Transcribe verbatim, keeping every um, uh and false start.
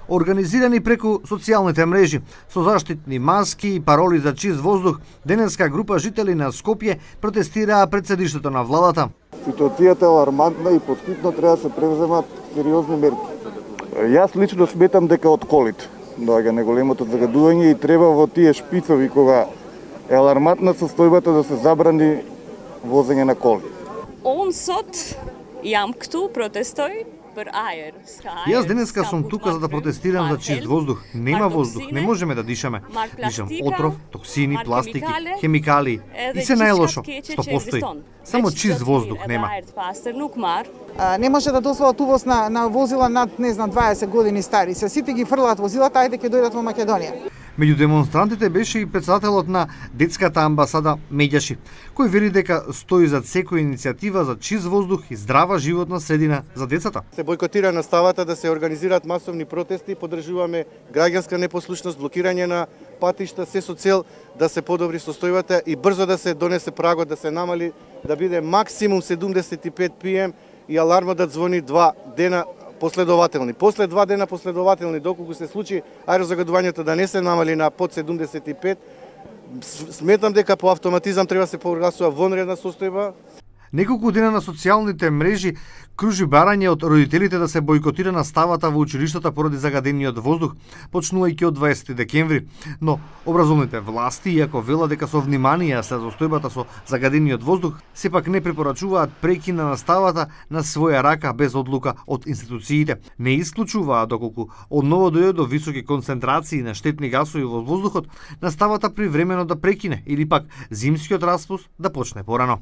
Организирани преку социјалните мрежи со заштитни маски и пароли за чист воздух, денеска група жители на Скопје протестираа пред седиштето на владата. Ситуацијата е алармантна и поскипно треба да се превземат сериозни мерки. Јас лично сметам дека од колите доаѓа неголемото загадување и треба во тие шпицови кога е алармантна состојбата да се забрани возење на коли. Ons jam këtu protestoj për ajër. Јас денеска сум тука за да протестирам за чист воздух. Нема воздух, не можеме да дишаме. Дишам отров, токсини, пластики, хемикали и се најлошо што постои. Само чист воздух нема. Не може да дозволат увоз на, на возила над, не знам, дваесет години стари. Се сите ги фрлаат возилата, ајде ќе дојдат во Македонија. Меѓу демонстрантите беше и председателот на детската амбасада Меѓаши, кој вели дека стои зад секоја иницијатива за чист воздух и здрава животна средина за децата. Се бојкотира наставата да се организираат масовни протести, поддржуваме граѓанска непослушност, блокирање на патишта, се со цел да се подобри состојбата и брзо да се донесе прагот, да се намали, да биде максимум седумдесет и пет пи ем и алармот да звони два дена последователни. После два дена последователни, доколку се случи аерозагадувањето да не се намали на под седумдесет и пет, сметам дека по автоматизам треба да се прогласува вонредна состојба. Неколку дена на социјалните мрежи кружи барање од родителите да се бојкотира наставата во училиштата поради загадениот воздух, почнувајќи од дваесети декември. Но образовните власти, иако велат дека со внимание се состојбата со загадениот воздух, сепак не препорачуваат прекин на наставата на своја рака без одлука од институциите. Не исклучуваат доколку одново дојде до високи концентрации на штетни гасови во воздухот, наставата привремено да прекине или пак зимскиот распуст да почне порано.